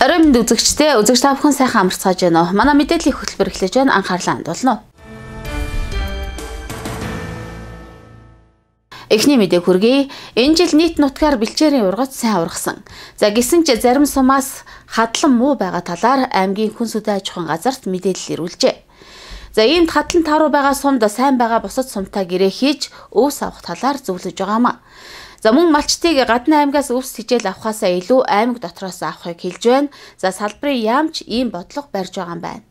Орой мэнд үзэгчтэй үзэгч та бүхэн сайхан амарцгааж байна уу? Манай мэдээллийн хөтөлбөр эхлэж байна. Анхаарлаа хандуулна уу? Эхний мэдээ хүргэе. Энэ жил нийт нутгаар бэлчээрийн ургац сайн ургасан. За гисэн ч зарим сумаас хадлан муу байгаа талаар аймгийн хүн сүдэн аж ахуйн газарт мэдээлэл ирүүлжээ. За иймд хадлан тааруу байгаа сумд сайн байгаа бусад сумтай гэрээ хийж өвс авах талаар зөвлөж байгаамаа. За мөн малчтыг гадны аймгаас өвс хижээл авахаасаа илүү аймаг дотроос авахыг хэлж байна. За салбарын яамч ийм бодлого барьж байгаа юм байна.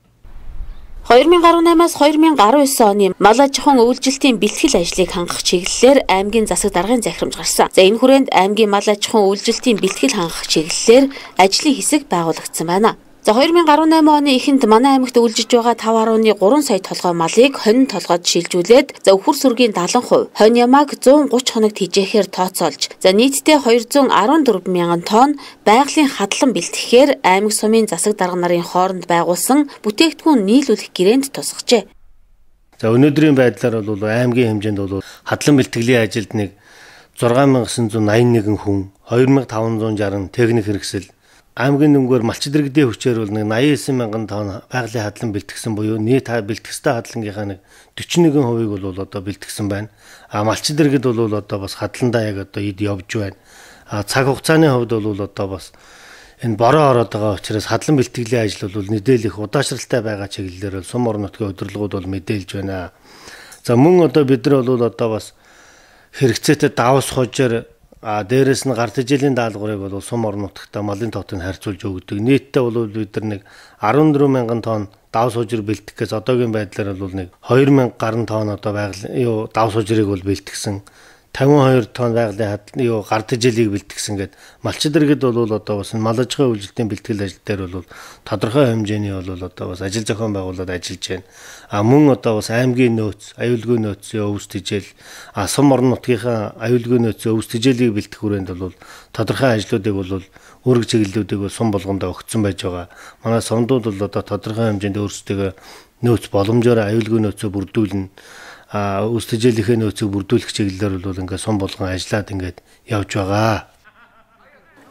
2018-аас 2019 оны мал аж ахуйн үйлчлэлтийн бэлтгэл ажлыг хангах чиглэлээр аймгийн засаг даргын захирамж гарсан. За энэ хүрээнд аймгийн мал аж ахуйн үйлчлэлтийн бэлтгэл хангах чиглэлээр ажлын хэсэг байгуулагдсан байна. За 2018 оны эхэнд манай аймагт үйлжиж байгаа 5.3 сая толгой малыг хонин толгойд шилжүүлээд за өвхөр сүргийн 70%, хонь ямааг 130 хоногт хижээхээр тооцоолж, за нийтдээ 214 мянган тонн байгалийн хадлан бэлтгэхээр аймаг сумын засаг дарга нарын хооронд байгуулсан бүтээгдэхүүн нийлүүлэх гэрээнд тусгажээ. За өнөөдрийн байдлаар бол аймгийн хэмжээнд бол хадлан бэлтгэлийн ажилд нэг 6981 хүн, 2560 техник хэрэгсэл аймгийн дүнгээр малчид иргэдийн хүчээр бол 89 мянган тонн байгалийн хадлан бэлтгэсэн буюу нийт бэлтгэстэй хадлангийнхаа нэг 41%-ийг бол одоо бэлтгэсэн байна. Малчид иргэд бол одоо бас хадландаа яг одоо эд явж байна. Цаг хугацааны хувьд бол одоо бас энэ бороо ороод байгаа учраас хадлан бэлтгэлийн ажил бол мэдээлэх удаашралтай байгаа чиглэлээр сум орон нутгийн удирдлагууд бол мэдээлж байна. За мөн одоо бид нар бол одоо бас хэрэгцээтэй давс хожоор дээрээс нь гарт ижилийн даалгаврыг бол сум орон нутагта малын тоотыг харьцуулж өгдөг. Нийтдээ бол бид нар нэг 14 мянган тонн давс хожир бэлтгэхээс одоогийн байдлаар бол нэг 2000 гаруй тонн одоо байгалийн давс хожирыг бол бэлтгэсэн. 52 тонн байгалийн гарт ижилийг бэлтгэсэн гэдэг. Малчид иргэд бол одоо бас мал аж ахуйн үйлчлэлтийн бэлтгэл ажил дээр бол тодорхой хэмжээний бол одоо бас ажил зохион байгуулалт ажиллаж байна. Мөн одоо бас аймгийн нөөц, аюулгүй нөөцийн өвс тижэл, сум орон нутгийнхаа аюулгүй нөөцийн өвс тижэлийг бэлтгэх хүрээнд бол тодорхой ажлуудыг бол үүрэг чиглэлүүдийг сум болгондоо өгсөн байж байгаа. Манай сумдууд бол одоо тодорхой хэмжээнд өөрсдөө нөөц боломжоор аюулгүй нөөцөө бүрдүүлнэ. Өвс тижээлийнхээ нөөцийг бүрдүүлэх чиглэлээр бол ингээд сум болгон ажиллаад ингээд явж байгаа.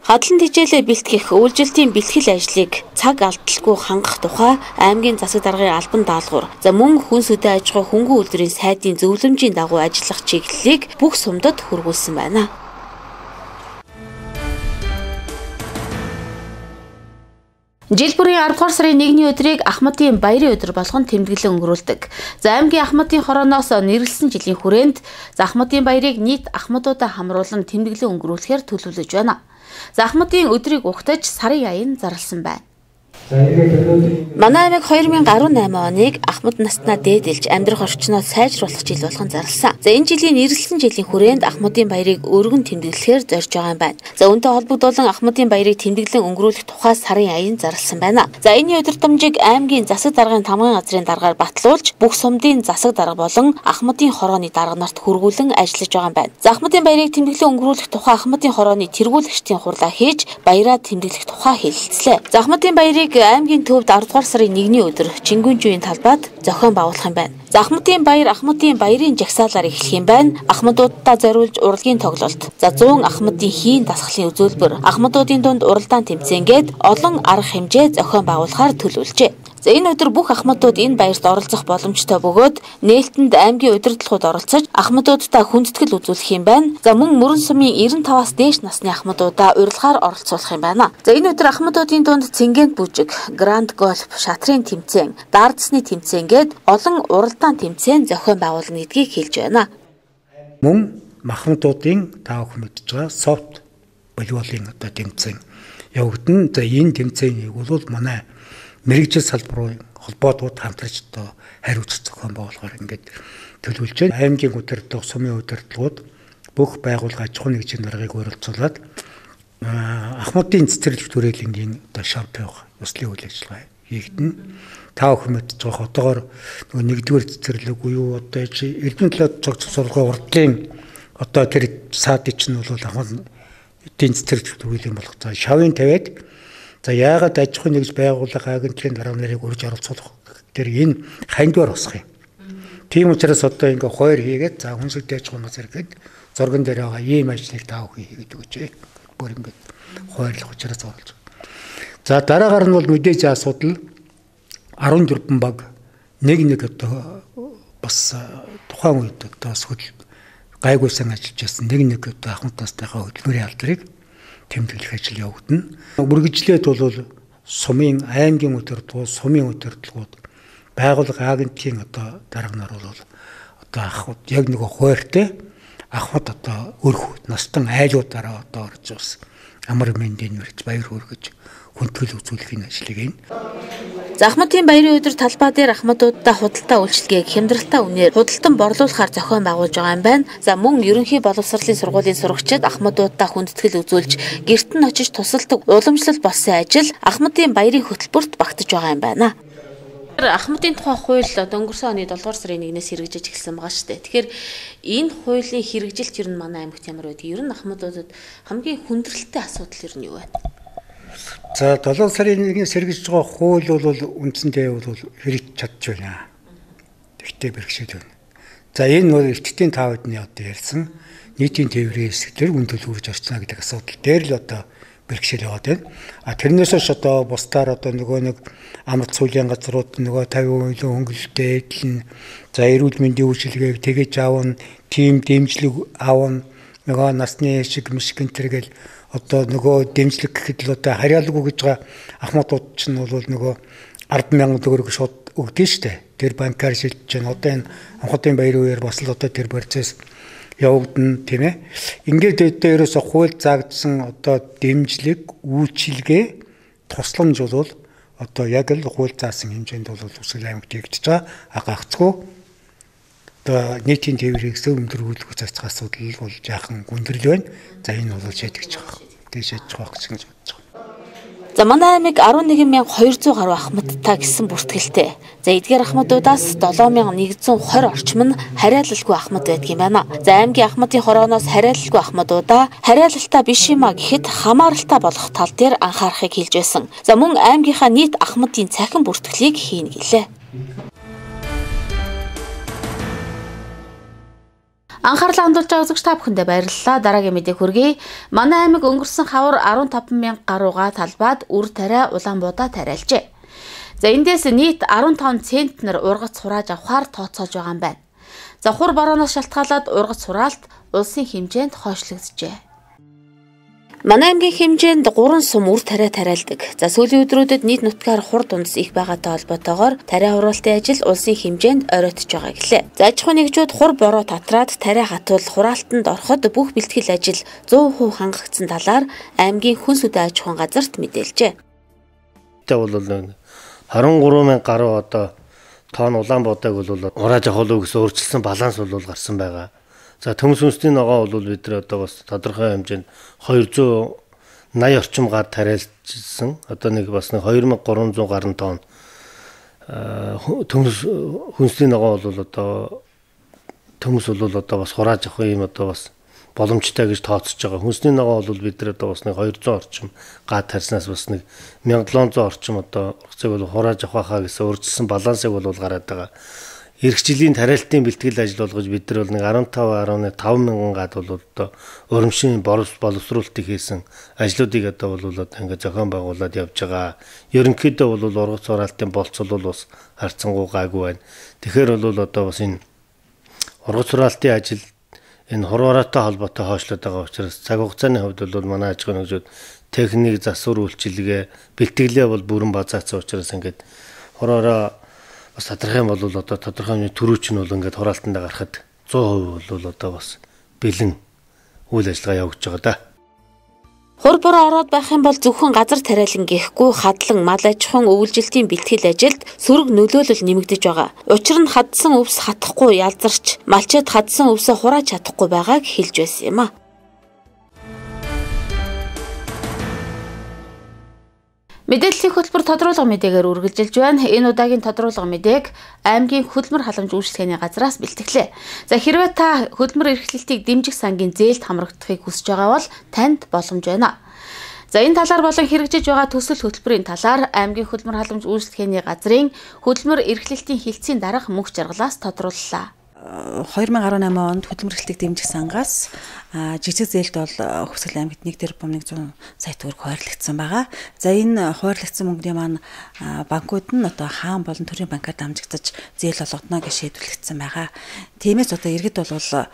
Хадлан тижээлээ бэлтгэх үйлчлэлтийн бэлтгэл ажлыг цаг алдалгүй хангах тухай аймгийн засаг даргын албан даалгавар, за мөн хүн сүдэн аж ахуй хөнгөн үйлдвэрийн сайдын зөвлөмжийн дагуу ажиллах чиглэлийг бүх сумдад хүргүүлсэн байна. Жил бүрийн 10 дугаар сарын 1-ний өдрийг Ахмадын баярын өдөр болгон тэмдэглэн өнгөрүүлдэг. За аймгийн Ахмадын хорооноос нэрлсэн жилийн хүрээнд Ахмадын баярыг нийт ахмадуудаа хамруулан тэмдэглэн өнгөрүүлэхээр төлөвлөж байна. За Ахмадын өдрийг угтаж сарын аян зарласан байна. Манай аймаг 2018 оныг Ахмад наснаа дээдэлж амьдрах орчноо сайжруулах жил болгон зарласан. За энэ жилийн нэрлсэн жилийн хүрээнд Ахмадын баярыг өргөн тэмдэглэхээр зорж байгаа юм байна. За үүнтэй холбогдуулан Ахмадын баярыг тэмдэглэн өнгөрүүлэх тухай сарын аян зарласан байна. За энэ удирдамжийг аймгийн засаг даргын тамгын газрын даргаар батлуулж бүх сумдын засаг дарга болон Ахмадын хорооны дарга нарт хүргүүлэн ажиллаж байгаа юм байна. За Ахмадын баярыг тэмдэглэн өнгөрүүлэх тухай Ахмадын хорооны тэргүүлэгчдийн хурлаа хийж баяраа тэмдэглэх тухай хэлэлцлээ. За Ахмадын баярыг аймгийн төвд 10 дугаар сарын 1-ний өдөр Чингүнжийн талбайд зохион байгуулах юм байна. За Ахмадын баяр Ахмадын баярын жагсаалаар эхлэх юм байна. Ахмадуудаа зориулж урлагийн тоглолт, за 100 Ахмадын хийн дасгалын үзүүлбэр, Ахмадуудын дунд уралдаан тэмцээнгээд олон арга хэмжээ зохион байгуулахаар төлөвлөжээ. За энэ өдөр бүх ахмадууд энэ баярт оролцох боломжтой бөгөөд нээлттэнд аймгийн удирдлагууд оролцож ахмадуудтай хүндэтгэл үзүүлэх юм байна. За мөн мөрөн сумын 95-аас дээш насны ахмадуудаа урилгаар оролцуулах юм байна. За энэ өдөр ахмадуудын дунд цэнгэнт бүжиг, гранд гольф, шатрын тэмцээн, дардсны тэмцээнгээд олон уралдаан тэмцээн зохион байгуулна гэдгийг хэлж байна. Мөн махмадуудын таа бүхэн мэдж байгаа софт волейболын одоо тэмцээн явагдана. За энэ тэмцээнийг бол манай мэрэгжил салбарын холбоотууд хамтарч одоо хариуцах зохион байгуулахаар ингээд төлөвлөж байна. Аймгийн удирдлага, сумын удирдлагууд бүх байгууллага аж ахуйн нэгжийн даргаыг оролцуулаад Ахмадын цэцэрлэг төрөлнгийн одоо шампион ёслолын үйл ажиллагаа хийгдэнэ. Та бүхэн мэдж байгаа одоогоор нөгөө нэгдүгээр цэцэрлэг буюу одоо Эрдэнэ талаад цогц сургуулийн урдлын одоо тэр саадын чинь бол Ахмадын цэцэрлэг төрөлийн болох за шавын тавиад за яагаад аж ахуйн нэгж байгууллага агентлагийн дарга нарыг урьж оролцуулах тэр энэ хандвар босох юм. Тийм учраас одоо ингээ хойр хийгээд за хүнсэлтэй аж ахуйн газар гээд зурган дээр байгаа ийм ажлыг таа бүхэн хийгээд өгөөч. Бүр ингээ хойрлох учраас оруулж. За дараагаар нь бол мэдээж асуудал 14 баг нэг одоо бас тухайн үед одоо гайгүйсэн ажиллаж байсан нэг одоо ахмад настайхаа хөдөлмөрийн алдрыг тэмдэглэх ажил явагдана. Үргэлжлээд бол сумын аймгийн удирдлагууд, сумын удирдлагууд, байгууллага агентийн одоо дарганаар бол одоо ахмад яг нэг хууртай ахмад одоо өрх настан айлуудаараа одоо орж бас амар мэндийн үрж баяр хүргэж хүндэтгэл үзүүлэхийн ажлыг ийн. За Ахмадын баярын өдөр талбай дээр ахмадуудаа худалдаа үйлчилгээг хямдралтай үнээр худалдан борлуулахаар зохион байгуулж байгаа юм байна. За мөн ерөнхий боловсролын сургуулийн сурагчид ахмадуудаа хүндэтгэл үзүүлж гэрт нь очиж тусалдаг уламжлал болсон ажил Ахмадын баярын хөтөлбөрт багтаж байгаа юм байна. Ахмадын тухай хууль өнгөрсөн оны 7 дугаар сарын 1-ээс хэрэгжиж эхэлсэн байгаа шүү дээ. Тэгэхээр энэ хуулийн хэрэгжилт ер нь манай аймагт ямар байдаг? Ер нь ахмадуудад хамгийн хүндрэлтэй асуудал ер нь юу байна? За 7 сарын 1-ээс хэрэгжиж байгаа хууль бол үндсэндээ бол хэрэгж чадж байна. Тэгтээ бэрхшээл байна. За энэ бол эртдийн таавдны одоо ярьсан нийтийн тээврийн хэсгээр үн төлөвлөж орчно гэдэг асуудал дээр л одоо бэрхшээл яваад байна. Тэрнээс ш одоо бусдаар одоо нөгөө нэг амралт сүүлийн газрууд нөгөө 50% хөнгөлөлттэй эдлэн за эрүүл мэндийн үйлчилгээг тэгэж аавна, тим дэмжлэг аавна, нөгөө насны шиг мишгэнтэргээл одоо нөгөө дэмжлэг гэхэд л одоо харьяалгүй гэж байгаа ахмадууд ч нь бол нөгөө 10,000 төгрөг шууд өгдөө штэ. Тэр банкар шилжиж байна. Одоо энэ Ахмадын баярын үеэр бас л одоо тэр процесс явагдана тийм ээ. Ингээд дээрээс хууль заагдсан одоо дэмжлэг, үйлчилгээ, тусламж бол одоо яг л хууль заасан хэмжээнд бол Үсгэл аймагт хийгдэж байгаа. Гагцгүй одоо нийтийн тээврийн өндөр үйлдвэр засах асуудал бол жаахан гүндрэл байна. За энэ бол шийдэгдэж байгаа. Тэгээ шийдэж байгаа гэж бодож байгаа. За манай аймаг 11,200 гаруй ахмадтай гэсэн бүртгэлтэй. За эдгээр ахмадуудаас 7,120 орчим нь хариалалгүй ахмад байдаг юм байна. За аймгийн ахмадын хорооноос хариалалгүй ахмадуудаа хариалалтай биш юм а гэхэд хамааралтай болох тал дээр анхаарахыг хэлж байсан. За мөн аймгийнхаа нийт ахмадын цахим бүртгэлийг хийнэ гэлээ. Анхаарлаа хандуулж байгаа үзэгч та бүхэндээ баярлалаа. Дараагийн мэдээг хүргэе. Манай аймаг өнгөрсөн хавар 15,000 гаруйга талбайд үр тариа улаан буудаа тариалжээ. За эндээс нийт 15 центнер ургац хурааж авахар тооцоолж байгаа юм байна. За хур борооноос шалтгаалаад ургац хураалт улсын хэмжээнд хойшлогджээ. Манай аймгийн хэмжээнд 3 сум үр тариа тариалдаг. За сүүлийн өдрүүдэд нийт нутгаар хур дундас их байгаатай холбоотойгоор тариа хураалтын ажил улсын хэмжээнд оройтож байгаа гэлээ. За аж ахуй нэгжүүд хур бороо татраад тариа хатвал хураалтанд ороход бүх бэлтгэл ажил 100% хангагдсан талаар аймгийн хүнс үдэ аж ахуйн газарт мэдээлжээ. Тэ бол 23,000 гаруй одоо тоон улаан буудаг бол урааж авах гэсэн өөрчлөсөн баланс бол гарсан байгаа. За төмс үнсний ногоо бол бид нар одоо бас тодорхой хэмжээнд 280 орчим гар тариалжсэн. Одоо нэг бас 2,300 гаруй тонн төмс хүнсний ногоо бол одоо төмс бол одоо бас хурааж авах юм одоо бас боломжтой гэж тооцож байгаа. Хүнсний ногоо бол бид нар одоо бас 200 орчим гад тарснаас бас 1700 орчим одоо ургацыг бол хурааж авах хаа гэсэн өөрчлөсөн балансыг бол гараад байгаа. Ирэх жилийн тариалтын бэлтгэл ажил болгож бид нар бол 15 мянган гад бол одоо урамшийн боловсруулалтыг хийсэн ажлуудыг одоо бол ингээд зохион байгуулад явж байгаа. Ерөнхийдөө бол ургац хураалтын болцол бол бас харцангуй гайгүй байна. Тэгэхээр бол одоо бас энэ ургац хураалтын ажил энэ хурууратай холбоотой хойшлоод байгаа учраас цаг хугацааны хувьд бол манай аж ахуйн нэгжүүд техник засвар үйлчилгээ бэлтгэлээ бол бүрэн базаацсан учраас ингээд хуруураа бас тодорхой бол одоо тодорхой төрүүч нь бол ингээд хураалтанд гарахад 100% бол одоо бас бэлэн үйл ажиллагаа явуулж байгаа да. Хур бороо ороод байх юм бол зөвхөн газар тариалан гэхгүй хадлан мал аж ахуйн өвлжилтийн бэлтгэл ажилд сөрөг нөлөөлөл нэмэгдэж байгаа. Учир нь хадсан өвс хатахгүй ялзарч, малчид хадсан өвсөө хурааж чадахгүй байгааг хэлж байсан юм а. Мэдээллийн хөтөлбөр тодруулга мэдээгээр үргэлжилж байна. Энэ удаагийн тодруулга мэдээг аймгийн хөдөлмөр халамж үйлчлэгээний газраас бэлтгэлээ. За хэрвээ та хөдөлмөр эрхлэлтийг дэмжих сангийн зээлд хамрагдахыг хүсэж байгаа бол танд боломж байна. За энэ талаар болон хэрэгжиж байгаа төсөл хөтөлбөрийн талаар аймгийн хөдөлмөр халамж үйлчлэгээний газрын хөдөлмөр эрхлэлтийн хилцээний дарга мөнх жаргалаас тодрууллаа. 2018 онд хөдөлмөр эрхлэлтийг дэмжих сангаас жижиг зээлд бол Хувьсгал аймагт 1 тэрбум 100 сая төгрөг хуваарлагдсан байгаа. За энэ хуваарлагдсан мөнгөний маань банкуд нь одоо хаан болон төрийн банкаар дамжигдаж зээл олгодно гэж шийдвэрлэгдсэн байгаа. Тиймээс одоо иргэд бол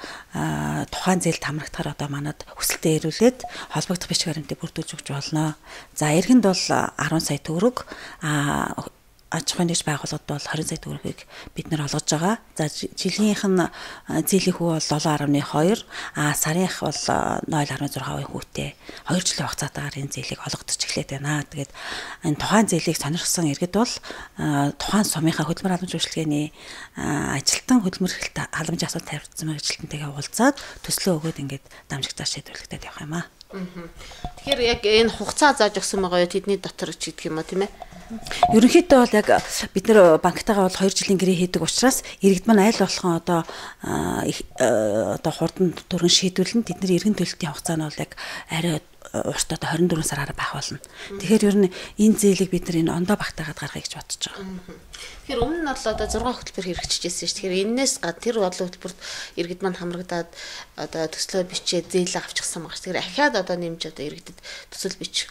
тухайн зээлд хамрагдахаар одоо манад хүсэлтээ ирүүлээд холбогдох бичиг баримтыг бүрдүүлж өгч болно. За иргэнд бол 10 сая төгрөг аж ахуйн нэгж байгууллагад бол 20 сая төгрөгийг бид нэр олгож байгаа. За жилийнх нь зээлийн хүү бол 7.2, сарынх бол 0.6% хүүтэй 2 жилийн хугацаатаар энэ зээлийг олгодож эхлэв байна. Тэгээд энэ тухайн зээлийг сонирхсан иргэд бол тухайн сумынхаа хөдөлмөр халамж үйлчилгээний ажилтан хөдөлмөр халамжийн асуудал тавьсан ажилтнтайгаа уулзаад төслөө өгөөд ингээд дамжигдаж шийдвэрлэгдээд явах юм аа. Тэгэхээр яг энэ хугацаа зааж өгсөн байгаа юу тэдний дотор ч гэдэг юм аа тийм ээ. Ерөнхийдөө бол яг бид нэр банктайгаа бол 2 жилийн гэрээ хийдэг учраас иргэд маань аль болохон одоо хурдан түргэн шийдвэрлэн тэд нар иргэн төлөлтийн хугацаа нь бол яг арай урт одоо 24 сараар байх болно. Тэгэхээр ер нь энэ зээлийг бид нар энэ ондоо багтаагаад гаргая гэж бодож байгаа. Тэгэхээр өмнө нь бол одоо 6 хөтөлбөр хэрэгжижсэн шүү. Тэгэхээр энээс тэр олон хөтөлбөрт иргэд маань хамрагдаад одоо төслөө бичээд зээлээ авчихсан байгаа. Тэгэхээр ахиад одоо нэмж одоо иргэдэд төсөл бичих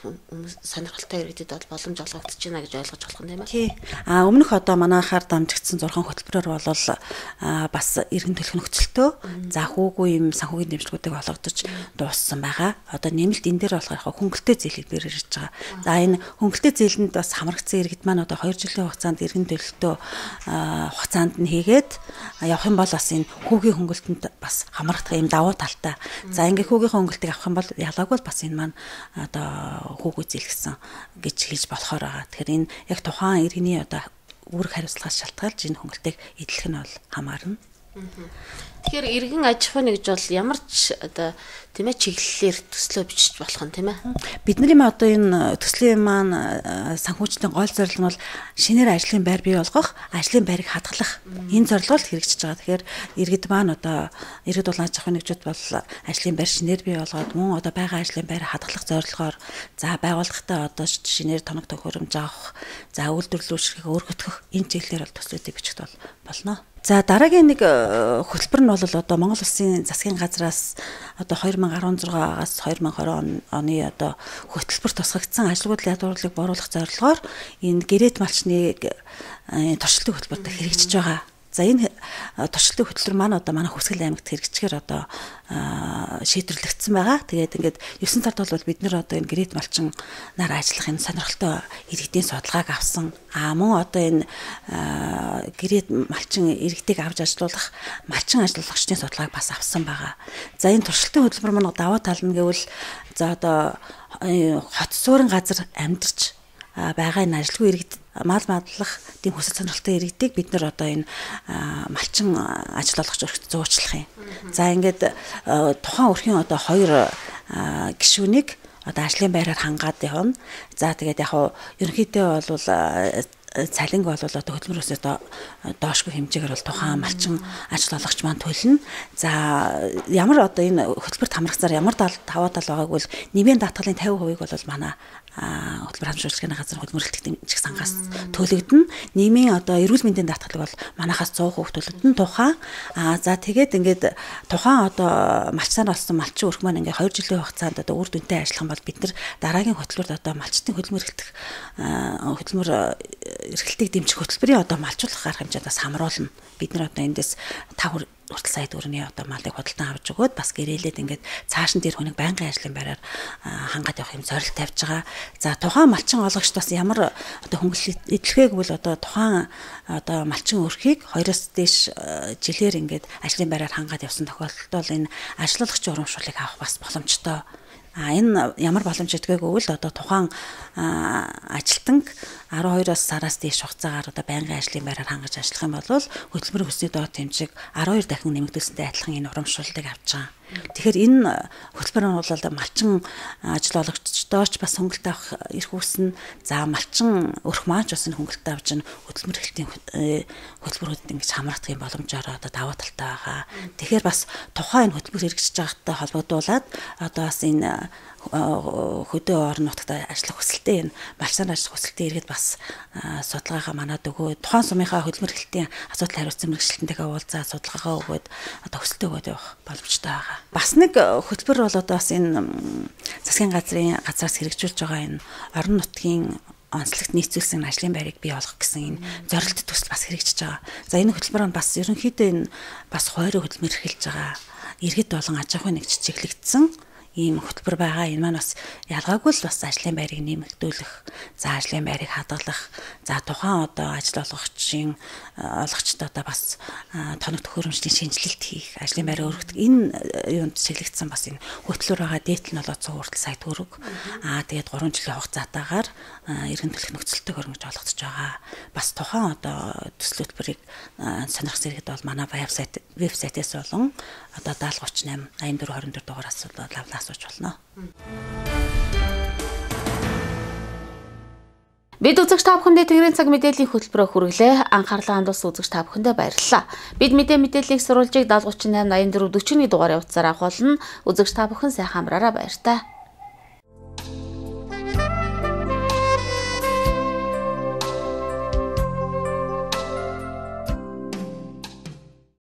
сонирхолтой иргэдэд бол боломж олгогдож байна гэж ойлгож болох юм тийм ээ. Тий. Өмнөх одоо манайхаар дамжигдсан 6 хөтөлбөрөөр бол бас иргэн төлөх нөхцөлтөө за хүүгүй юм санхүүгийн дэмжлэгүүдийг олгодож дууссан байгаа. Одоо нэмэлт энэ дээр болохоор хөнгөлтэй зээлийг дээр ирж байгаа. За энэ хөнгөлтэй зээлэнд бас хамрагдсан иргэд маань одоо 2 жилийн хугацаанд иргэн төлөлтөө хугацаанд нь хийгээд явах юм бол бас энэ хүүгийн хөнгөлтөнд бас хамрагдах юм давуу талтай. За ингээ хүүгийнхээ хөнгөлтийг авах юм бол ялгаагүй бас энэ маань одоо хүүгүй зээлгсэн гэж хэлж болохоор байгаа. Тэгэхээр энэ яг тухайн иргэний одоо үүрэг хариуцлагаас шалтгаалж энэ хөнгөлтийг эдлэх нь бол хамаарна. Тэгэхээр иргэн аж ахуйн нэгж бол ямар ч одоо тийм ээ чиглэлээр төслөө бичиж болох нь тийм ээ. Бидний одоо энэ төслийн маань санхүүжлийн гол зорилго нь бол шинээр ажлын байр бий болгох, ажлын байрыг хадгалах энэ зорилгоор хэрэгжиж байгаа. Тэгэхээр иргэд маань одоо иргэд бол аж ахуйн нэгжүүд бол ажлын байр шинээр бий болгоод мөн одоо байгаа ажлын байрыг хадгалах зорилгоор за байгууллагатай одоо шинээр тоног төхөөрөмж авах, за үйлдвэрлэлүүшрийг өөргөтгөх энэ чиглэлээр бол төслүүдийг бичихд бол болно. За дараагийн нэг хөтөлбөр нь бол одоо Монгол Улсын засгийн газраас одоо 2016-аас 2020 оны одоо хөтөлбөр тусгагдсан ажилгүйдлийн ядуурлыг боруулах зорилгоор энэ гэрээт малчныг туршилтын хөтөлбөрт хэрэгжиж байгаа. За энэ туршилтын хөтөлбөр маань одоо манай Хувьсгал аймагт хэрэгжчихээр одоо шийдвэрлэгдсэн байгаа. Тэгээд ингээд 9 сард бол бид нэр одоо энэ гэрээт малчин нар ажиллах энэ сонирхолтой иргэдийн судалгааг авсан. Мөн одоо энэ гэрээт малчин иргэдийг авч ажилуулах малчин ажиллуулагчдын судалгааг бас авсан байгаа. За энэ туршилтын хөтөлбөр маань даваа тал нь гэвэл за одоо хот суурин газар амьдарч байгаа энэ ажилгүй иргэд мал мадлах тийм хүсэл сонирхолтой иргэдийг бид нар одоо энэ малчин ажиллуулагч өргөд зуучлах юм. За ингээд тухайн өрхийн одоо 2 гишүүнийг одоо ажлын байраар хангаад явна. За тэгээд яг ерөнхийдөө бол цалинг бол одоо хөдөлмөрөөсөө доошгүй хэмжээгээр бол тухайн малчин ажиллуулагч маань төлнө. За ямар одоо энэ хөтөлбөрт хамрагцаар ямар даваа тал байгааг бол нэмийн даатгалын 50% бол манай хөтөлбөр халамж үйлчилгээний газар хөдөлмөр эрхлэлт дэмжих сангаас төлөгдөн. Нийгмийн одоо эрүүл мэндийн даатгалыг бол манахаас 100% төлөгдөн тухайн. За тэгээд ингээд тухайн одоо малчсаар олсон малчин өрх маань ингээд 2 жилийн хугацаанд одоо үр дүнтэй ажиллах юм бол бид нар дараагийн хөтөлбөрт одоо малчтын хөдөлмөр эрхлэлтийг дэмжих хөтөлбөрийн одоо малжуулах арга хэмжээнд бас хамруулна. Бид нар одоо эндээс 5 хүртэл сая төгрөгийн одоо малыг худалдан авч өгөөд бас гэрээлээд ингээд цааш нь тэр хүнийг байнгын ажлын байраар хангаад явах юм зорилт тавьж байгаа. За тухайн малчин олгогчд бас ямар одоо хөнгөлөлт эдлэхээ гэвэл одоо тухайн одоо малчин өрхийг 2-оос дээш жилээр ингээд ажлын байраар хангаад явсан тохиолдолд бол энэ ажиллуулагчийн урамшууллыг авах бас боломжтой. Энэ ямар боломжтой гэвэл одоо тухайн ажилтан 12-оос сараас дээш хугацаагаар одоо байнгын ажлын байраар хангаж ажиллах юм бол хөтөлбөрийн хүсний доод хэмжээг 12 дахин нэмэгдүүлсэнтэй адилхан энэ урамшууллыг авч байгаа. Тэгэхээр энэ хөтөлбөр нь бол малчин ажил олгогчдооч бас хөнгөлт авах эрх үүснэ. За малчин өрх маань ч бас хөнгөлт авч хөдөлмөр эрхтлийн хөтөлбөрүүдэд ингэж хамрагдах юм боломжоор одоо даваа талтай байгаа. Тэгэхээр бас тухайн хөтөлбөр хэрэгжиж байгаатай холбогдуулаад одоо бас энэ хөдөө орон нутагт ажиллах хүсэлтэй энэ малчин ажиллах хүсэлтэй иргэд бас судалгаагаа манад өгөө. Тухайн сумынхаа хөдөлмөр эрхтлийн асуудал хариуцсан мэргэжилтэнтэйгээ уулзаад судалгаагаа өгөөд одоо хүсэлтэй өгөөд явах боломжтой байгаа. Бас нэг хөтөлбөр бол одоо бас энэ засгийн газраас хэрэгжүүлж байгаа энэ орон нутгийн онцлогт нийцүүлсэн ажлын байрыг бий болгох гэсэн энэ зорилт төсөл бас хэрэгжиж байгаа. За энэ хөтөлбөр нь бас ерөнхийдөө энэ бас хойроо хөдөлмөр эрхэлж байгаа иргэд болон аж ахуйн нэгж чиглэгдсэн ийм хөтөлбөр байгаа. Энэ маань бас ялгаагүй л бас ажлын байрыг нэмэгдүүлэх, за ажлын байрыг хадгалах, за тухайн одоо ажил олгогчдод одоо бас тоног төхөөрөмжлийн шинжилэлт хийх, ажлын байраа өргөдөг энэ юунд чиглэгдсэн бас энэ хөтөлбөр байгаа. Дээдл нь бол 100 хүртэл сая төгрөг. Тэгээд 3 жилийн хугацаатаагаар иргэн төлөх нөхцөлтэй хөрөнгөж олгогдож байгаа. Бас тухайн одоо төсөл хөтөлбөрийг сонирхсан иргэд бол манай вебсайтээс болон одоо 7038 84 24 дугаараас асууж болно. Бид үзэгч та бүхэндээ Тэнгэрийн цаг мэдээллийн хөтөлбөрөөр хүргэлээ. Анхаарлаа хандуулсан үзэгч та бүхэндээ баярлалаа. Бид мэдээллийг сурвалжийг 7038 84 41 дугаарыг утсаар авах болно. Үзэгч та бүхэн сайхан амраараа баяр та.